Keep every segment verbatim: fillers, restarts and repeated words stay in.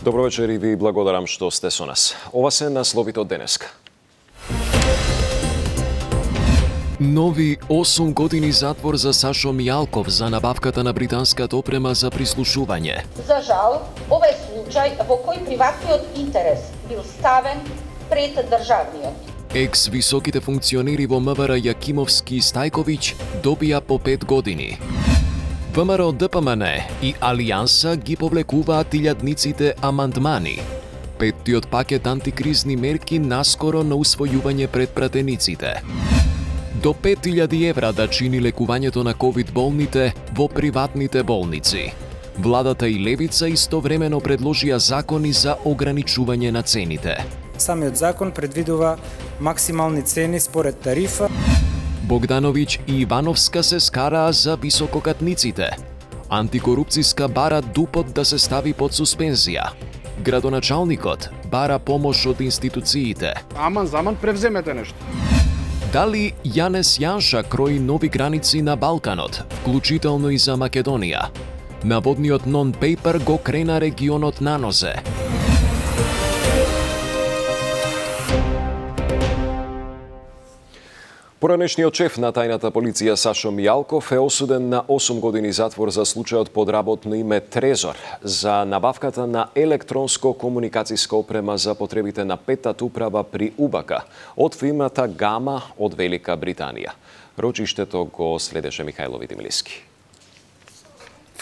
Добро вечер и ви благодарам што сте со нас. Ова се насловите од денеска. Нови осум години затвор за Сашо Мијалков за набавката на британската опрема за прислушување. За жал, ова е случај во кој приватниот интерес бил ставен пред државниот. Екс-високите функционери во МВР Јакимовски и Стајковиќ добија по пет години. ВМРО Д П М Н и Алијанса ги повлекуваат илјадниците амандмани. Петтиот пакет антикризни мерки наскоро на усвојување пред пратениците. До пет илјади евра да чини лекувањето на ковид болните во приватните болници. Владата и левица истовремено предложија закони за ограничување на цените. Самиот закон предвидува максимални цени според тарифа. Богдановиќ и Ивановска се скараа за висококатниците. Антикорупцијска бара ДУП-от да се стави под суспензија. Градоначалникот бара помош од институциите. Аман заман превземете нешто. Дали Јанес Јанша крои нови граници на Балканот, вклучително и за Македонија? Наводниот нон-пейпер го крена регионот на нозе. Поранешниот шеф на тајната полиција Сашо Мијалков е осуден на осум години затвор за случајот под работно име Трезор за набавката на електронско комуникацијска опрема за потребите на петтата управа при УБК од фирмата Гама од Велика Британија. Рочиштето го следеше Михајло Видимилиски.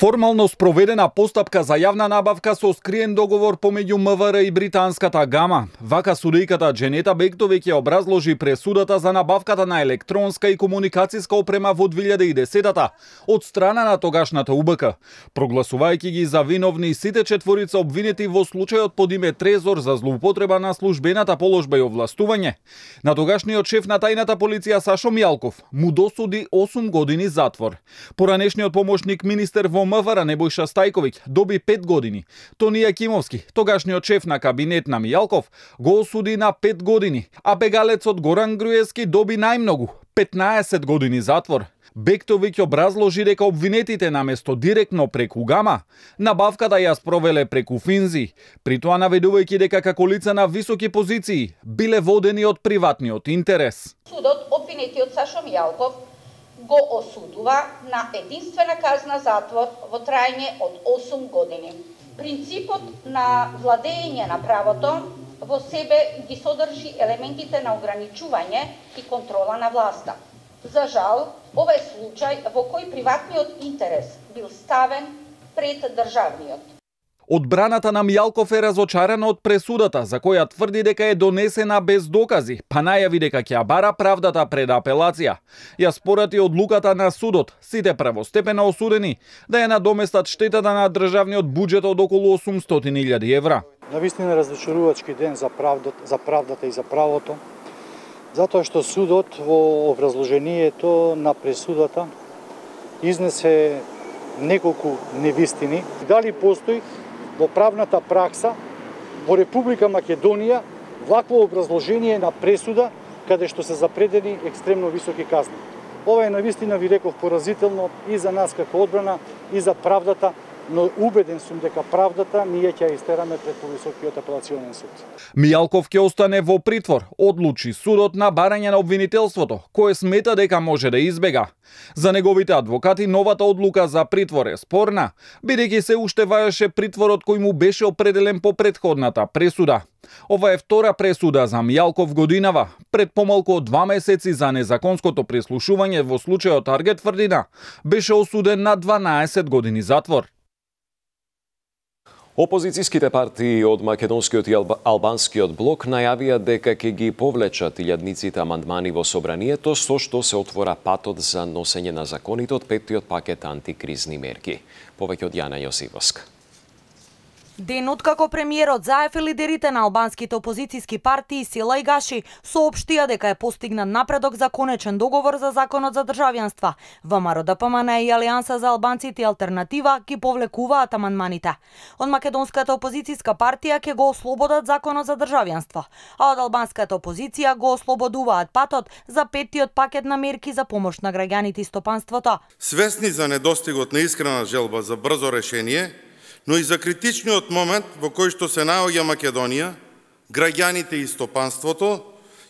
Формално спроведена постапка за јавна набавка со скриен договор помеѓу МВР и британската Гама. Вака судејката Дженета Бектовиќ ја образложи пресудата за набавката на електронска и комуникацијска опрема во две илјади и десетата од страна на тогашната УБК, прогласувајќи ги за виновни сите четворица обвинети во случајот под име Трезор за злоупотреба на службената положба и овластување. На тогашниот шеф на тајната полиција Сашо Мијалков му досуди осум години затвор. Поранешниот помошник министер во МВР Небојша Стајковиќ доби пет години. Тони Јакимовски, тогашниот шеф на кабинет на Мијалков, го осуди на пет години, а бегалецот Горан Груевски доби најмногу петнаесет години затвор. Бектовиќ образложи дека обвинетите наместо директно преку Гама, набавката ја спровеле преку Финзи, при тоа наведувајќи дека како лица на високи позиции биле водени од приватниот интерес. Судот обвинетиот Сашо Мијалков го осудува на единствена казна затвор во трајање од осум години. Принципот на владење на правото во себе ги содржи елементите на ограничување и контрола на власта. За жал, ова е случај во кој приватниот интерес бил ставен пред државниот. Одбраната на Мијалков е разочарана од пресудата, за која тврди дека е донесена без докази, па најави дека ќе ја бара правдата пред апелација. Ја спорати одлуката на судот, сите првостепено осудени да ја надоместат штетата на државниот буџет од околу осумстотини илјади евра. Навистина разочарувачки ден за правдата, за правдата и за правото, затоа што судот во образложението на пресудата изнесе неколку невистини. Дали постои во правната пракса во Република Македонија вакво образложение на пресуда каде што се запредени екстремно високи казни. Ова е навистина, ви реков, поразително и за нас како одбрана и за правдата, но убеден сум дека правдата ние ќе ја истераме пред повисокиот апелационен суд. Мијалков ќе остане во притвор, одлучи судот на барање на обвинителството, кое смета дека може да избега. За неговите адвокати новата одлука за притвор е спорна, бидејќи се уште важеше притворот кој му беше определен по претходната пресуда. Ова е втора пресуда за Мијалков годинава, пред помалку од два месеци за незаконското прислушување во случајот Таргет Тврдина, беше осуден на дванаесет години затвор. Опозицијските партии од македонскиот и албанскиот блок најавија дека ќе ги повлечат илјадниците амандмани во собранието, со што се отвора патот за носење на законите од петтиот пакет антикризни мерки. Повеќе од Јана Јосифовска. Ден откако премиерот Заев и лидерите на албанските опозицијски партии Сила и Гаши соопштија дека е постигнат напредок за конечен договор за законот за државјанство. ВМРО Д П М Н и Алијанса за албанците и Алтернатива ги повлекуваат амандманите. Од македонската опозицијска партија ќе го ослободат законот за државјанство, а од албанската опозиција го ослободуваат патот за петтиот пакет на мерки за помош на граѓаните и стопанството. Свесни за недостигот на искрена желба за брзо решение, но и за критичниот момент во кој што се наоѓа Македонија, граѓаните и стопанството,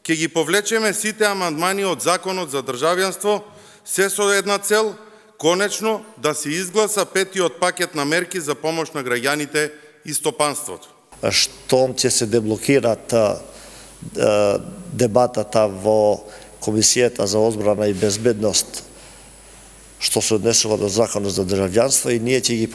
ќе ги повлечеме сите амандмани од Законот за државјанство, се со една цел, конечно да се изгласа петиот пакет на мерки за помош на граѓаните и стопанството. Штом ќе се деблокираат дебатата во Комисијата за одбрана и безбедност, што се однесува до Законот за државјанство, и ние ќе ги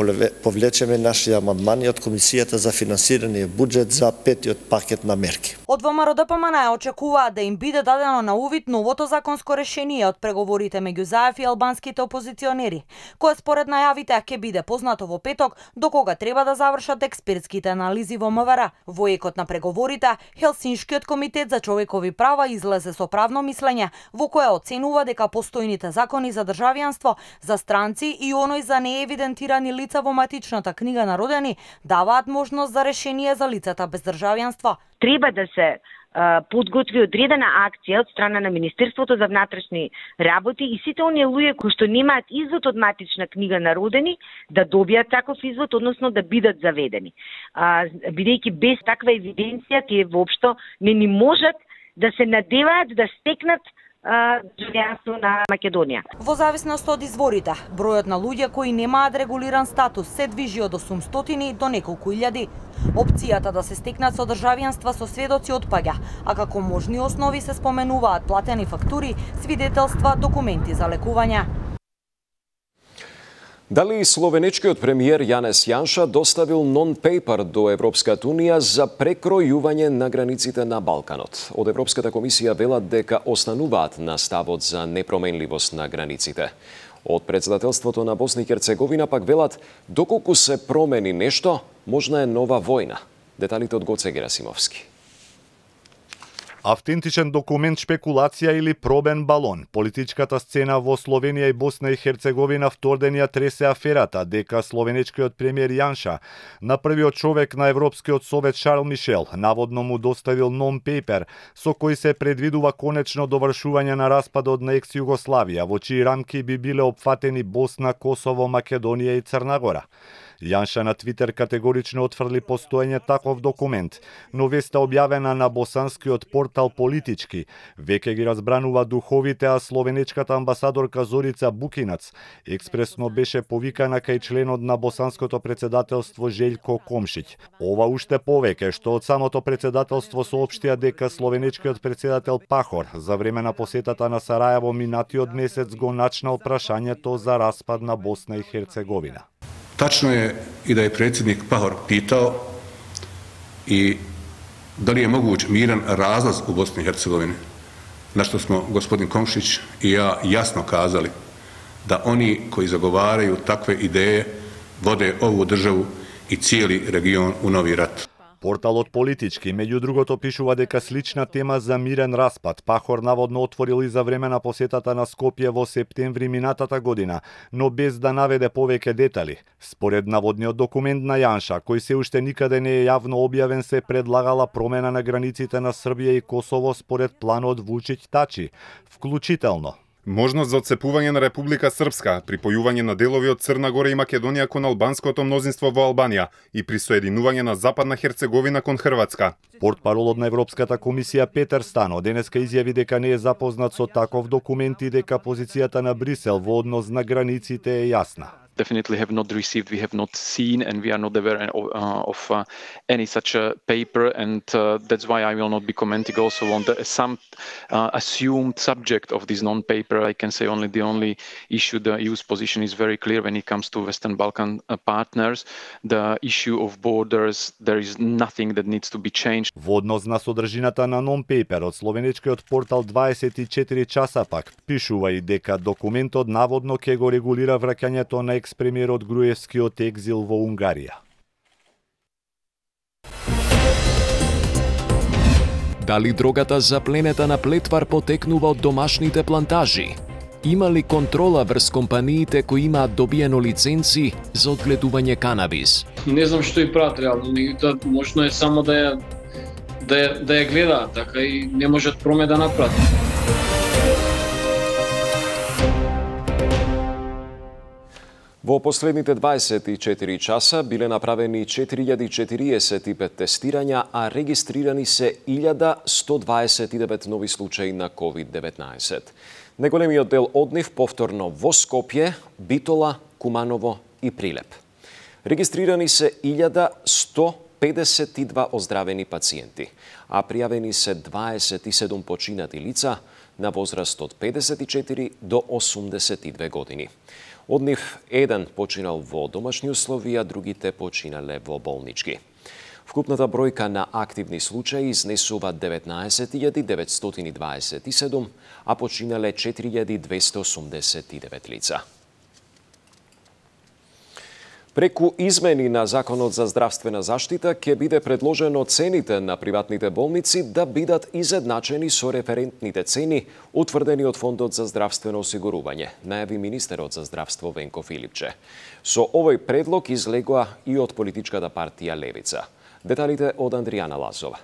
повлечеме наши амандмани од Комисијата за финансирање буџет за петиот пакет на мерки. Од ВМРО-ДПМН очекуваат да им биде дадено на увид новото законско решение од преговорите меѓу ЗАЕФ и албанските опозиционери, кое според најавите ќе биде познато во петок, до кога треба да завршат експертските анализи во МВР. Во екот на преговорите, Хелсиншкиот комитет за човекови права излезе со правно мислење во кое оценува дека постојните закони за државјанство за странци и оној за неевидентирани лица во матичната книга на родени даваат можност за решение за лицата без државјанство. Треба да се подготви одредена акција од страна на Министерството за внатрешни работи и сите оние луѓе кои што немаат извод од матична книга на родени да добијат таков извод, односно да бидат заведени. Бидејќи без таква евиденција тие воопшто не ни можат да се надеваат да стекнат државјанство на Македонија. Во зависност од изворите, бројот на луѓе кои немаат регулиран статус се движи од осумстотини до неколку илјади. Опцијата да се стекнат со државјанства со сведоци отпаѓа, а како можни основи се споменуваат платени фактури, свидетелства, документи за лекување. Дали словенечкиот премиер Јанес Јанша доставил нон-пейпер до Европската Унија за прекројување на границите на Балканот? Од Европската комисија велат дека остануваат на ставот за непроменливост на границите. Од председателството на Босна и Херцеговина пак велат доколку се промени нешто, можна е нова војна. Деталите од Гоце Герасимовски. Автентичен документ, шпекулација или пробен балон. Политичката сцена во Словенија и Босна и Херцеговина вторденија тресе аферата дека словенечкиот премиер Јанша на првиот човек на Европскиот совет Шарл Мишел наводно му доставил нон-пейпер со кој се предвидува конечно довршување на распадот на екс-Југославија, во чии рамки би биле опфатени Босна, Косово, Македонија и Црна Гора. Јанша на Твитер категорично отфрли постоење таков документ, но веста објавена на босанскиот портал Политички веќе ги разбранува духовите, а словенечката амбасадорка Зорица Букинац експресно беше повикана кај членот на босанското председателство Желјко Комшиќ. Ова уште повеќе што од самото председателство соопштија дека словенечкиот председател Пахор за време на посетата на Сараево минатиот месец го начнал прашањето за распад на Босна и Херцеговина. Tačno je i da je predsjednik Pahor pitao i da li je moguć miran razlaz u Bosni i Hercegovini, na što smo gospodin Komšić i ja jasno kazali da oni koji zagovaraju takve ideje vode ovu državu i cijeli region u novi rat. Порталот Политички, меѓу другото, пишува дека слична тема за мирен распад Пахор наводно отворил и за време на посетата на Скопје во септември минатата година, но без да наведе повеќе детали. Според наводниот документ на Јанша, кој се уште никаде не е јавно објавен, се предлагала промена на границите на Србија и Косово според планот Вучиќ-Тачи, вклучително можност за отцепување на Република Српска, припојување на делови од Црна Гора и Македонија кон албанското мнозинство во Албанија и присоединување на Западна Херцеговина кон Хрватска. Портпаролот на Европската комисија Петер Стано денеска изјави дека не е запознат со таков документ и дека позицијата на Брисел во однос на границите е јасна. Definitely have not received, we have not seen, and we are not aware of, uh, of uh, any such a paper, and uh, that's why I will not be commenting also on the, some uh, assumed subject of this non-paper. I can say only the only issue, the E U's position is very clear when it comes to Western Balkan uh, partners. The issue of borders, there is nothing that needs to be changed. Во однос на содржината на non-paperот, словенечкиот портал дваесет и четири часа пак пишува и дека документот наводно ќе го регулира враќањето на екс-премиерот Груевски од екзил во Унгарија. Дали дрогата запленета на Плетвар потекнува од домашните плантажи? Има ли контрола врз компаниите кои имаат добиено лиценци за одгледување канабис? Не знам што и прават реално, можно е само да ја да ја, да ја гледаат, така и не можат проме да направат. Во последните дваесет и четири часа биле направени четири илјади четириесет и пет тестирања, а регистрирани се илјада сто дваесет и девет нови случаи на ковид деветнаесет. Неголемиот дел од нив повторно во Скопје, Битола, Куманово и Прилеп. Регистрирани се илјада сто педесет и два оздравени пациенти, а пријавени се дваесет и седум починати лица на возраст од педесет и четири до осумдесет и две години. Од нив еден починал во домашни услови, а другите починале во болнички. Вкупната бројка на активни случаи изнесува деветнаесет илјади деветстотини дваесет и седум, а починале четири илјади двесте осумдесет и девет лица. Преку измени на Законот за здравствена заштита ќе биде предложено цените на приватните болници да бидат изедначени со референтните цени утврдени од Фондот за здравствено осигурување, најави министерот за здравство Венко Филипче. Со овој предлог излегоа и од политичката партија Левица. Деталите од Андријана Лазова.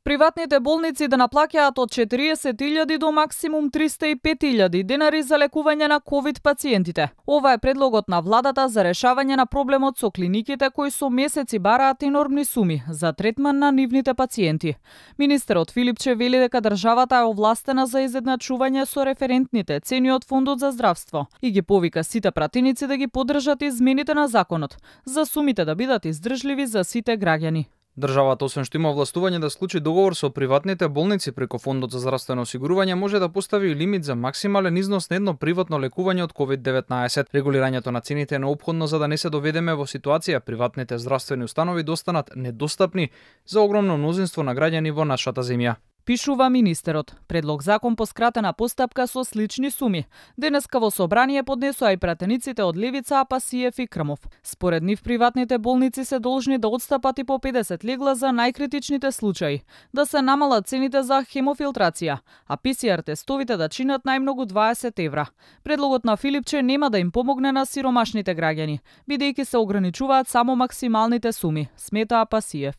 Приватните болници да наплаќаат од четириесет илјади до максимум триста и пет илјади денари за лекување на ковид пациентите. Ова е предлогот на владата за решавање на проблемот со клиниките кои со месеци бараат енормни суми за третман на нивните пациенти. Министерот Филипче вели дека државата е овластена за изедначување со референтните цени од Фондот за здравство и ги повика сите пратеници да ги поддржат измените на законот за сумите да бидат издржливи за сите граѓани. Државата, освен што има овластување да склучи договор со приватните болници преку Фондот за здравствено осигурување, може да постави и лимит за максимален износ на едно приватно лекување од ковид деветнаесет. Регулирањето на цените е неопходно за да не се доведеме во ситуација приватните здравствени установи да останат недостапни за огромно мнозинство на граѓани во нашата земја. Пишува министерот. Предлог закон по скратена постапка со слични суми. Денеска во собрание поднесоа и пратениците од Левица, Апасиев и Крмов. Според нив приватните болници се должни да отстапат и по педесет легла за најкритичните случаи, да се намалат цените за хемофилтрација, а пи си ар тестовите да чинат најмногу дваесет евра. Предлогот на Филипче нема да им помогне на сиромашните граѓани, бидејќи се ограничуваат само максималните суми, смета Апасиев.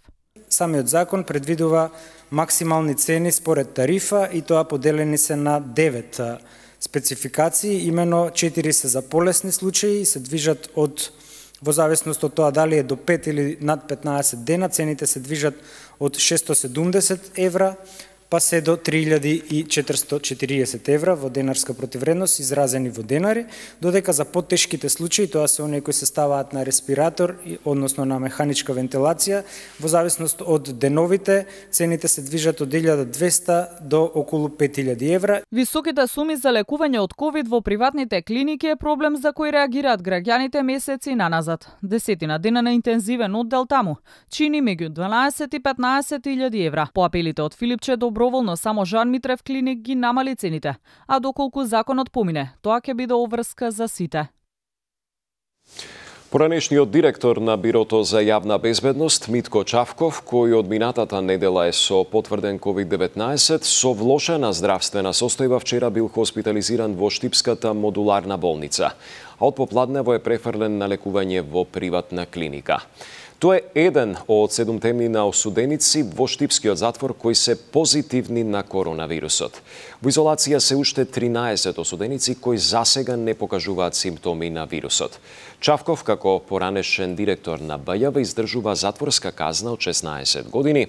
Самиот закон предвидува максимални цени според тарифа и тоа поделени се на девет спецификации, имено четири се за полесни случаи и се движат од во зависност од тоа дали е до пет или над петнаесет дена, цените се движат од шестстотини и седумдесет евра па се до три илјади и четиристотини и четириесет евра во денарска противредност изразени во денари, додека за потешките случаи, тоа се оние кои се ставаат на респиратор, односно на механичка вентилација, во зависност од деновите, цените се движат од илјада и двесте до околу пет илјади евра. Високите суми за лекување од ковид во приватните клиники е проблем за кој реагираат граѓаните месеци наназад. Десетина дена на интензивен оддел таму чини меѓу дванаесет и петнаесет илјади евра. По апелите од Филипче доброволно само Жан Митрев клиник ги намали цените, а доколку законот помине, тоа ќе биде обврска за сите. Поранешниот директор на Бирото за јавна безбедност Митко Чавков, кој од минатата недела е со потврден ковид деветнаесет, со влошена здравствена состојба вчера бил хоспитализиран во Штипската модуларна болница, а од попладнево е префрлен на лекување во приватна клиника. Тоа е еден од седумте на осуденици во Штипскиот затвор кои се позитивни на коронавирусот. Во изолација се уште тринаесет осуденици кои засега не покажуваат симптоми на вирусот. Чавков, како поранешен директор на Б Ј В, издржува затворска казна од шеснаесет години,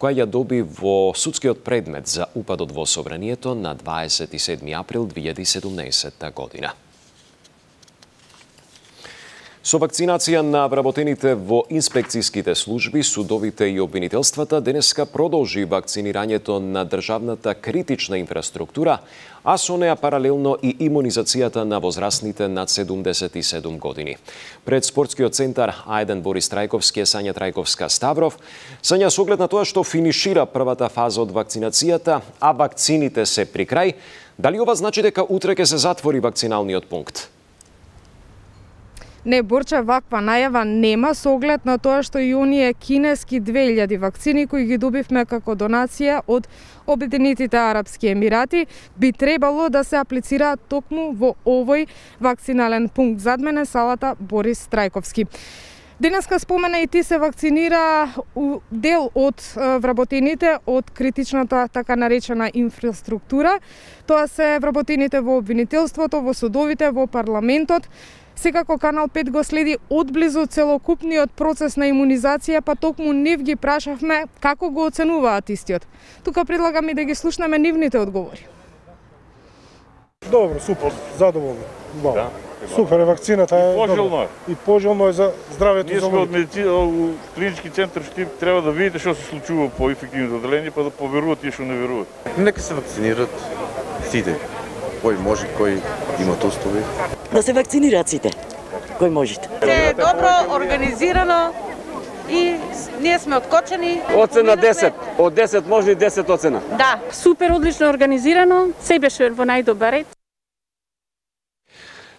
која ја доби во судскиот предмет за упадот во собранието на дваесет и седми април две илјади и седумнаесетта година. Со вакцинација на вработените во инспекцијските служби, судовите и обвинителствата, денеска продолжи вакцинирањето на државната критична инфраструктура, а со неа паралелно и имунизацијата на возрастните над седумдесет и седум години. Пред спортскиот центар А еден Борис Трајковски е Сања Трајковска Ставров. Сања, со оглед на тоа што финишира првата фаза од вакцинацијата, а вакцините се при крај, дали ова значи дека утре ќе се затвори вакциналниот пункт? Не, Борче, ваква најава нема со оглед на тоа што и оние кинески две илјади вакцини кои ги добивме како донација од Обединетите Арапски Емирати би требало да се аплицираат токму во овој вакцинален пункт. Зад мене салата Борис Трајковски. Денеска спомена и ти се вакцинира дел од вработените од критичната така наречена инфраструктура. Тоа се вработените во обвинителството, во судовите, во парламентот. Секако Канал пет го следи одблизу целокупниот процес на имунизација, па токму нив ги прашавме како го оценуваат истиот. Тука предлагам и да ги слушнеме нивните одговори. Добро, супер, задоволни. Да. Супер е вакцината е. Пожелно е. И пожелно е за здравето. Ние сме од медицина, клинички центар Штип, треба да видите што се случува по инфективните одделенија, па да поверуват и што не веруват. Нека се вакцинират сите. Кој може, кој има тостови. Да се вакцинираат сите. Кој можете. Е добро организирано и ние сме откочени. Оцена десет. Од десет може и десет оцена. Да, супер одлично организирано, се беше во најдобар ред.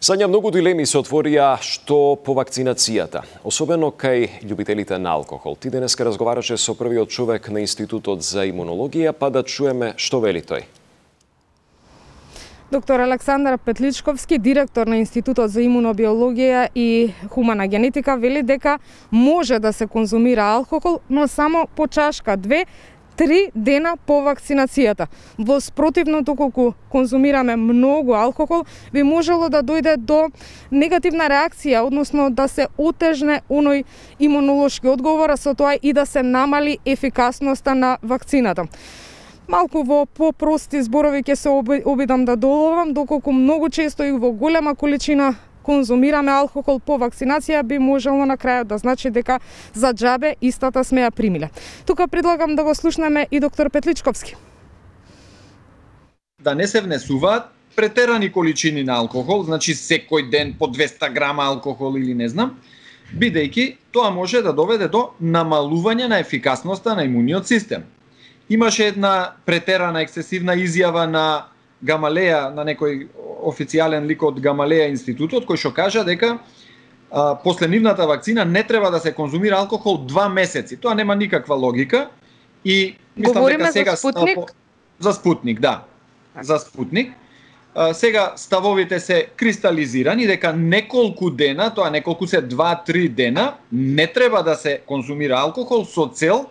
Сања, многу дилеми се отворија што по вакцинацијата, особено кај љубителите на алкохол. Ти денеска разговараше со првиот човек на Институтот за имунологија, па да чуеме што вели тој. Доктор Александар Петличковски, директор на Институтот за имунобиологија и хумана генетика, вели дека може да се конзумира алкохол, но само по чашка две, три дена по вакцинацијата. Во спротивно, доколку конзумираме многу алкохол, би можело да дојде до негативна реакција, односно да се отежне оној имунолошки одговор, а со тоа и да се намали ефикасноста на вакцината. Малку во попрости зборови ќе се обидам да доловам, доколку многу често и во голема количина конзумираме алкохол по вакцинација, би можело на крајот да значи дека за џабе истата сме ја примиле. Тука предлагам да го слушнеме и доктор Петличковски. Да не се внесуваат претерани количини на алкохол, значи секој ден по двеста грама алкохол или не знам, бидејќи тоа може да доведе до намалување на ефикасноста на имуниот систем. Имаше една претерана ексцесивна изјава на Гамалеја, на некој официјален лик од Гамалеја институтот, кој што кажа дека а, после нивната вакцина не треба да се конзумира алкохол два месеци. Тоа нема никаква логика и мислам Говориме дека сега за Спутник? а, за Спутник, да. За Спутник. А, сега ставовите се кристализирани дека неколку дена, тоа неколку се два-три дена, не треба да се конзумира алкохол со цел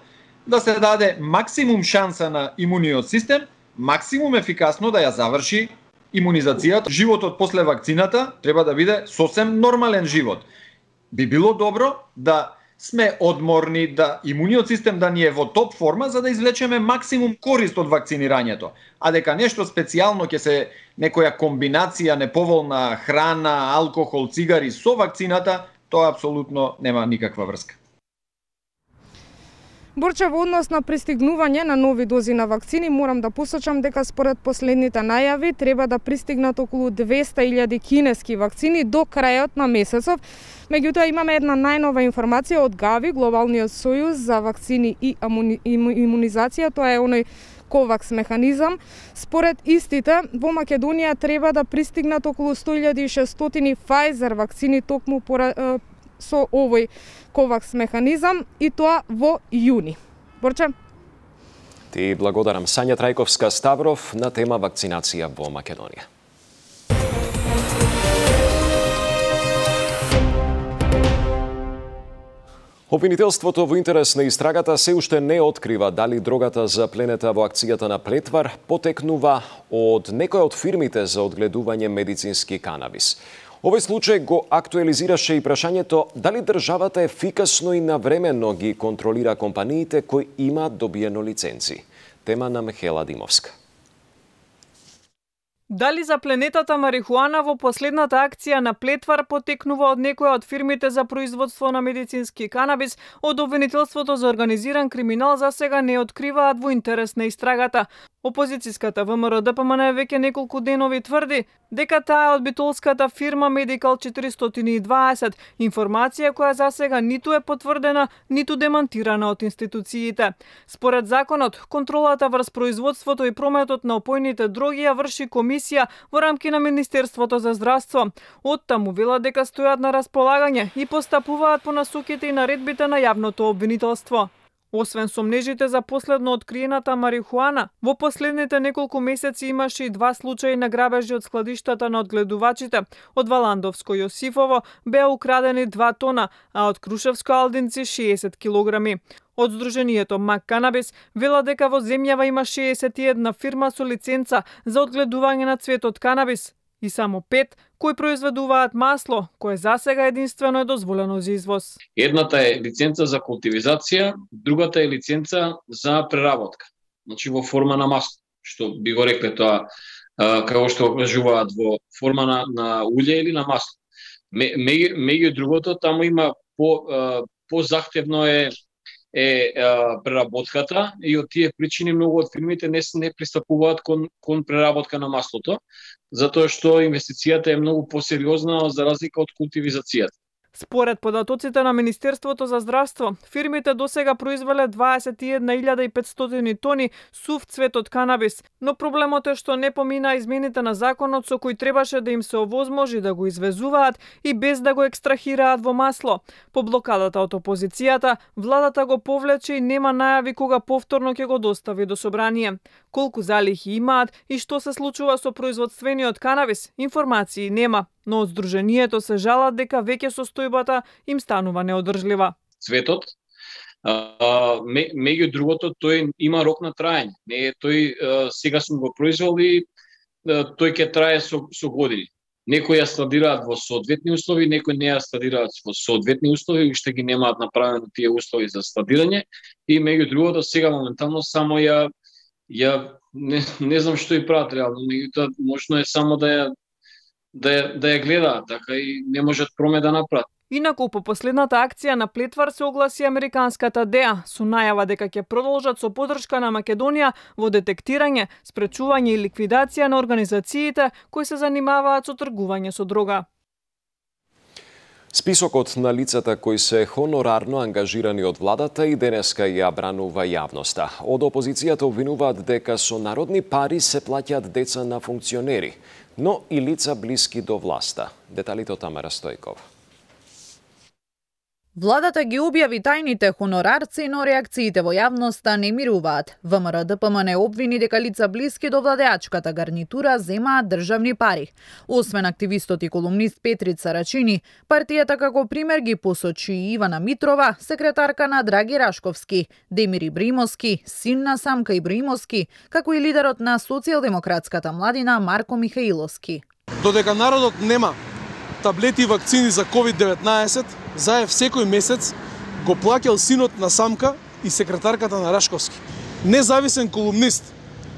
да се даде максимум шанса на имуниот систем, максимум ефикасно да ја заврши имунизацијата. Животот после вакцината треба да биде сосем нормален живот. Би било добро да сме одморни, да имуниот систем да ни е во топ форма за да извлечеме максимум корист од вакцинирањето. А дека нешто специјално ќе се некоја комбинација неповолна храна, алкохол, цигари со вакцината, тоа апсолутно нема никаква врска. Борче, во однос на пристигнување на нови дози на вакцини, морам да посочам дека според последните најави треба да пристигнат околу двеста илјади кинески вакцини до крајот на месецов. Меѓутоа имаме една најнова информација од ГАВИ, Глобалниот сојуз за вакцини и имунизација, тоа е оној ковакс механизам. Според истите, во Македонија треба да пристигнат околу сто илјади и шестстотини Pfizer вакцини токму пора, со овој ковакс механизам и тоа во јуни. Борче? Ти благодарам. Сања Трајковска Ставров на тема вакцинација во Македонија. Обвинителството во интерес на истрагата се уште не открива дали дрогата запленета во акцијата на Плетвар потекнува од некоја од фирмите за одгледување медицински канабис. Овој случај го актуализираше и прашањето дали државата ефикасно и навремено ги контролира компаниите кои имаат добиено лиценци. Тема на Михела Димовска. Дали запленетата марихуана во последната акција на Плетвар потекнува од некоја од фирмите за производство на медицински канабис, од обвинителството за организиран криминал за сега не откриваат во интерес на истрагата. Опозицијската ВМРО-ДПМН веќе неколку денови тврди дека таа е од битолската фирма Medical четиристотини и дваесет, информација која за сега ниту е потврдена, ниту демантирана од институциите. Според законот, контролата врз производството и прометот на опојните дроги ја врши комисија во рамки на Министерството за здравство. Оттаму вела дека стојат на располагање и постапуваат по насоките и наредбите на јавното обвинителство. Освен сомнежите за последно откриената марихуана, во последните неколку месеци имаше и два случаи на грабежи од складиштата на одгледувачите. Од Валандовско Јосифово беа украдени два тона, а од Крушевско Алдинци шеесет килограми. Од Сдруженијето Мак Канабис вела дека во земјава има шеесет и една фирма со лиценца за одгледување на цветот канабис и само пет кои произведуваат масло, кое засега единствено е дозволено за извоз. Едната е лиценца за култивизација, другата е лиценца за преработка. Значи во форма на масло, што би го рекле тоа, како што кажуваат, во форма на, на улје или на масло. Меѓу другото, таму има по, по захтевно е е а, преработката и од тие причини многу од фирмите не не пристапуваат кон кон преработка на маслото, затоа што инвестицијата е многу посериозна за разлика од култивизацијата. Според податоците на Министерството за здравство, фирмите досега произвеле дваесет и една илјада и петстотини тони сув цвет од канабис, но проблемот е што не помина измените на законот со кои требаше да им се овозможи да го извезуваат и без да го екстрахираат во масло. По блокадата од опозицијата, владата го повлече и нема најави кога повторно ќе го достави до собрание. Колку залихи имаат и што се случува со производствениот канабис, информации нема, но од Сдруженијето се жалат дека веќе состојбата им станува неодржлива. Цветот, а, меѓу другото, тој има рок на траење. Не е тој а, сега сум го произвел и а, тој ќе трае со, со години. Некои ја складираат во соодветни услови, некои не ја складираат во соодветни услови, уште ги немаат направено тие услови за складирање и меѓу другото сега моментално само ја ја не, не знам што и прават реално, меѓутоа можно е само да ја да ја, да ја гледаат, така и не можат проме да направат. Инаку по последната акција на Плетвар се огласи американската ДЕА со најава дека ќе продолжат со подршка на Македонија во детектирање, спречување и ликвидација на организациите кои се занимаваат со тргување со дрога. Списокот на лицата кои се хонорарно ангажирани од владата и денеска ја бранува јавноста. Од опозицијата обвинуваат дека со народни пари се плаќаат деца на функционери, но и лица блиски до власта. Деталите од Тамара Стојкова. Владата ги објави тајните хонорарци, но реакциите во јавноста не мируваат. ВМРО-ДПМН обвини дека лица блиски до владеачката гарнитура земаат државни пари. Освен активистот и колумнист Петрица Рачини, партијата како пример ги посочи и Ивана Митрова, секретарка на Драги Рашковски, Демир Ибримовски, син на Самка Ибримовски, како и лидерот на социјалдемократската младина Марко Михаиловски. Додека народот нема таблети и вакцини за ковид деветнаесет, заев секој месец го плаќал синот на Самка и секретарката на Рашковски. Независен колумнист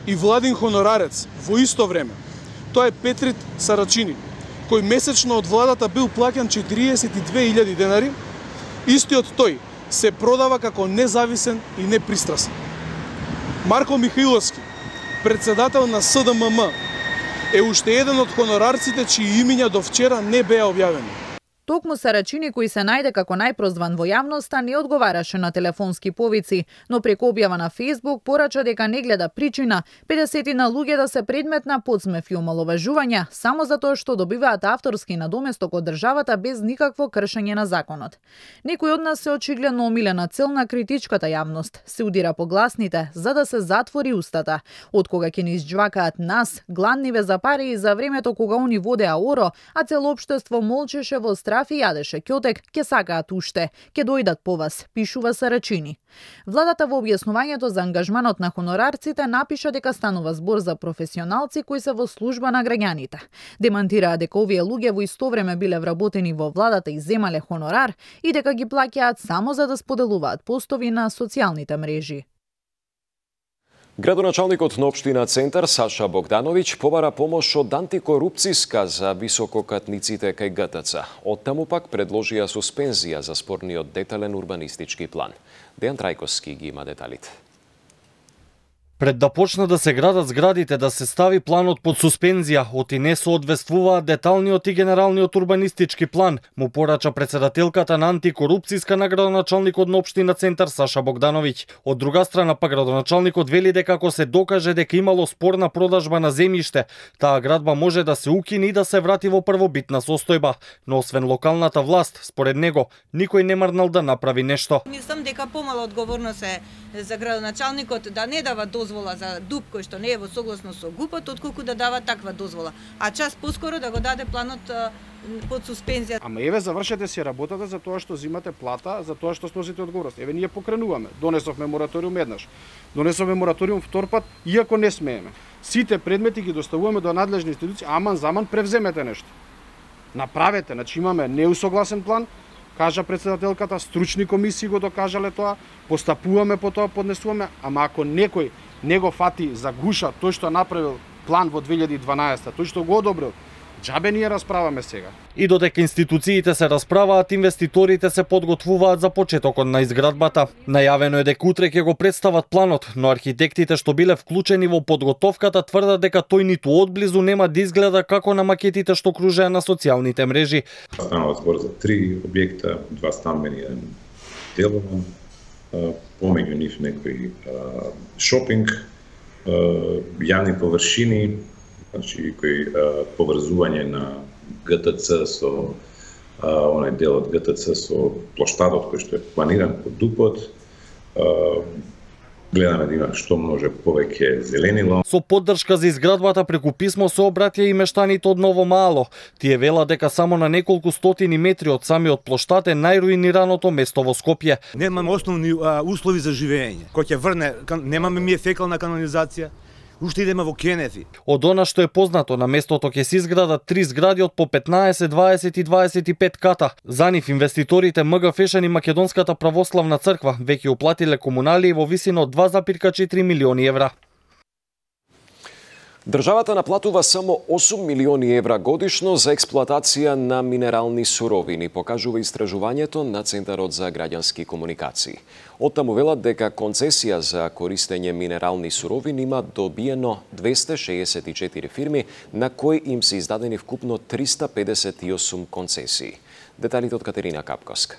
и владин хонорарец во исто време. Тоа е Петрит Сарачини, кој месечно од владата бил плаќан четириесет и две илјади денари. Истиот тој се продава како независен и непристрасен. Марко Михаиловски, председател на СДММ, е уште еден од хонорарците чии имиња до вчера не беа објавени. Токму Сарачини, кој се најде како најпрозван во јавноста, не одговараше на телефонски повици, но преку објава на Facebook порача дека не гледа причина педесетина луѓе да се предмет на подсмев и омаловажувања само затоа што добиваат авторски надоместок од државата без никакво кршење на законот. Некој од нас се очигледно омилена цел на критичката јавност, се удира по гласните за да се затвори устата. Од кога ќе ни изџвакаат нас, гладниве за пари и за времето кога они водеа оро, а цело општество молчеше во страх и јадеше ќотек, ќе сакаат уште, ќе дојдат по вас, пишува Сарачини. Владата во објаснувањето за ангажманот на хонорарците напиша дека станува збор за професионалци кои се во служба на граѓаните. Демантираа дека овие луѓе во исто време биле вработени во владата и земале хонорар и дека ги плаќаат само за да споделуваат постови на социјалните мрежи. Градоначалникот на општина Центар Саша Богдановиќ побара помош од антикорупцијска за висококатниците кај ГТЦ. Оттаму пак предложија суспензија за спорниот детален урбанистички план. Дејан Трајковски ги има деталите. Пред да почнат да се градат зградите, да се стави планот под суспензија, оти не соодветствуваат деталниот и генералниот урбанистички план, му порача председателката на антикорупцијска на градоначалникот на општина Центар Саша Богдановиќ. Од друга страна, па градоначалникот вели дека ако се докаже дека имало спорна продажба на земјиште, таа градба може да се укини и да се врати во првобитна состојба. Но освен локалната власт, според него, никој не марнал да направи нешто. Мислам дека помала одговорност е за градоначалникот да не дава дозвола за дуб кој што не е во согласно со ГУП-от, отколку да дава таква дозвола. А час поскоро да го даде планот под суспензија. Ама еве завршете си работата за тоа што зимате плата, за тоа што сносите одговорност. Еве ние покренуваме. Донесовме мораториум еднаш. Донесовме мораториум втор пат, иако не смееме. Сите предмети ги доставуваме до надлежни институции, аман заман превземете нешто. Направете, значи имаме неусогласен план, кажа председателката, стручни комисии го докажале тоа, постапуваме по тоа, поднесуваме, ама ако некој не го фати за гуша тој што направил план во две илјади и дванаесета, тој што го одобрил, џабе ние расправаме сега. И додека институциите се расправаат, инвеститорите се подготвуваат за почетокот на изградбата. Најавено е дека утре ќе го представат планот, но архитектите што биле вклучени во подготовката тврдат дека тој ниту одблизу нема да изгледа како на макетите што кружеа на социјалните мрежи. Станува збор за три објекта, два стамбени, еден деловен, помеѓу нив некој шопинг, јавни површини, значи кој поврзување на ГТЦ со онај дел од ГТЦ со плоштадот кој што е планиран под ДУП-от. Гледаме да има што може повеќе зеленило. Со поддршка за изградбата преку писмо се обратија и мештаните од Ново Мало. Тие велат дека само на неколку стотини метри од самиот плоштад е најруинираното место во Скопје. Немаме основни а, услови за живење. Кој ќе врне, немаме ми фекална канализација. Уште идеме во Кенефи. Од она што е познато, на местото ќе се изградат три згради од по петнаесет, дваесет и дваесет и пет ката. За нив инвеститорите МГ Фешен и Македонската православна црква веќе уплатиле комуналии во висина од два зарез четири милиони евра. Државата наплатува само осум милиони евра годишно за експлоатација на минерални суровини, покажува истражувањето на Центарот за граѓански комуникации. Оттаму велат дека концесија за користење минерални суровини има добиено двесте шеесет и четири фирми, на кои им се издадени вкупно триста педесет и осум концесии. Деталите од Катерина Капковска.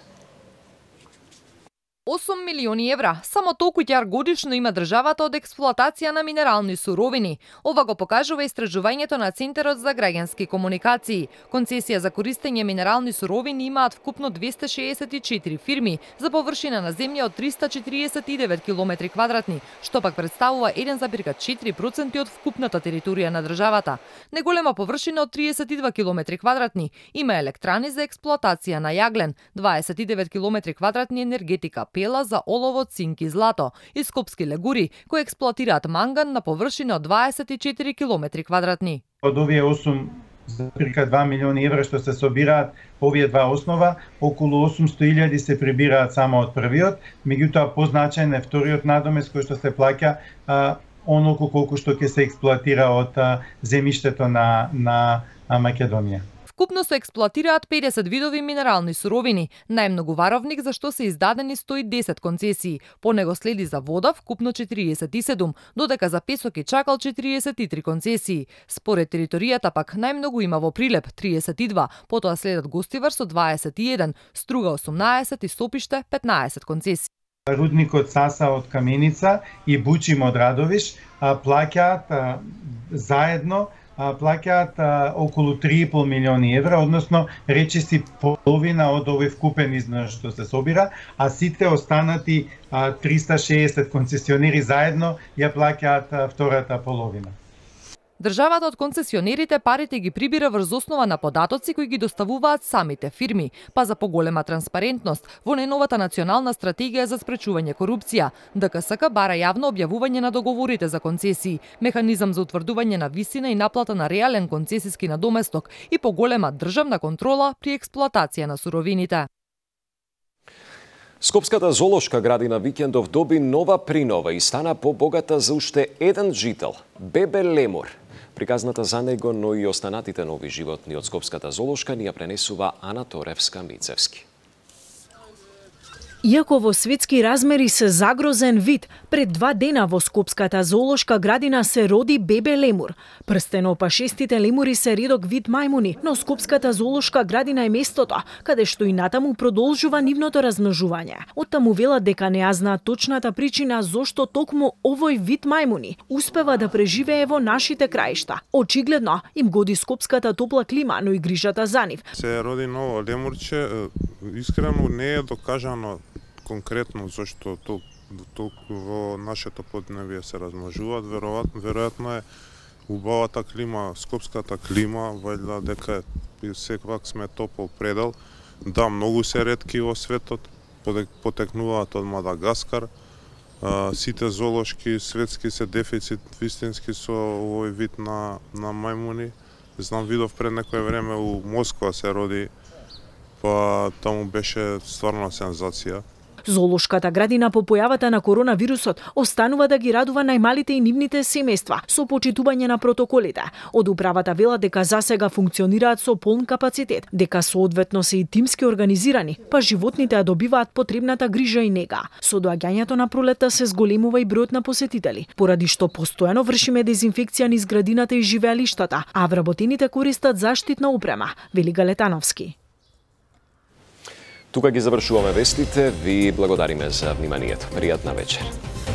осум милиони евра, само толку ќар годишно има државата од експлоатација на минерални суровини. Ова го покажува истражувањето на Центарот за граѓански комуникации. Концесија за користење минерални суровини имаат вкупно двесте шеесет и четири фирми за површина на земја од триста четириесет и девет километри квадратни, што пак представува еден зарез четири проценти од вкупната територија на државата. Неголема површина од триесет и два километри квадратни има електрани за експлоатација на јаглен, дваесет и девет километри квадратни енергетика, пела за олово, цинк и злато, и скопски легури кои експлоатираат манган на површина од дваесет и четири километри квадратни. Од овие осум зарез два милиони евра што се собираат по овие два основа, околу осумсто илјади се прибираат само од првиот, меѓутоа позначаен е вториот надомес кој што се плаќа а, онолку колку што ќе се експлоатира од а, земјиштето на на Македонија. Вкупно се експлоатираат педесет видови минерални суровини, најмногу варовник за што се издадени сто и десет концесии. По него следи за вода вкупно четириесет и седум, додека за песок и чакал четириесет и три концесии. Според територијата пак најмногу има во Прилеп триесет и два, потоа следат Гостивар со дваесет и еден, Струга осумнаесет и Сопиште петнаесет концесии. Рудникот Саса од Каменица и Бучим од Радовиш плаќаат заедно плаќаат околу три и пол милиони евра, односно речиси половина од овој вкупен износ што се собира, а сите останати триста шеесет концесионери заедно ја плаќаат втората половина. Државата од концесионерите парите ги прибира врз основа на податоци кои ги доставуваат самите фирми, па за поголема транспарентност во најновата национална стратегија за спречување корупција, ДКСК бара јавно објавување на договорите за концесии, механизам за утврдување на висина и наплата на реален концесиски надоместок и поголема државна контрола при експлоатација на суровините. Скопската зоолошка градина викендов доби нова принова и стана побогата за уште еден жител – бебе лемур. Приказната за него, но и останатите нови животни од Скопската зоолошка ни ја пренесува Ана Торевска-Мицевски. Иако во светски размери се загрозен вид, пред два дена во Скопската зоолошка градина се роди бебе лемур. Прстенопашестите лемури се редок вид мајмуни, но Скопската зоолошка градина е местото каде што и натаму продолжува нивното размножување. Оттаму велат дека не ја знаат точната причина зошто токму овој вид мајмуни успева да преживее во нашите краишта. Очигледно им годи скопската топла клима, но и грижата за нив. Се роди ново лемурче, искрено не е докажано конкретно зашто толку во нашето поднебие се размножуваат, веројатно, веројатно е убавата клима, скопската клима, вајда дека секвак сме топол предел. Да, многу се ретки во светот, потекнуваат од Мадагаскар. Сите зоолошки светски се дефицит вистински со овој вид на, на мајмуни. Знам, видов пред некој време у Москва се роди, па таму беше стварно сензација. Зоолошката градина по појавата на коронавирусот останува да ги радува најмалите и нивните семејства со почитување на протоколите. Од управата велат дека засега функционираат со полн капацитет, дека соодветно се и тимски организирани, па животните ја добиваат потребната грижа и нега. Со доаѓањето на пролетта се зголемува и бројот на посетители, поради што постојано вршиме дезинфекција низ градината и живеалиштата, а вработените користат заштитна опрема, вели Галетановски. Тука ги завршуваме вестите, ви благодариме за вниманието. Пријатна вечер.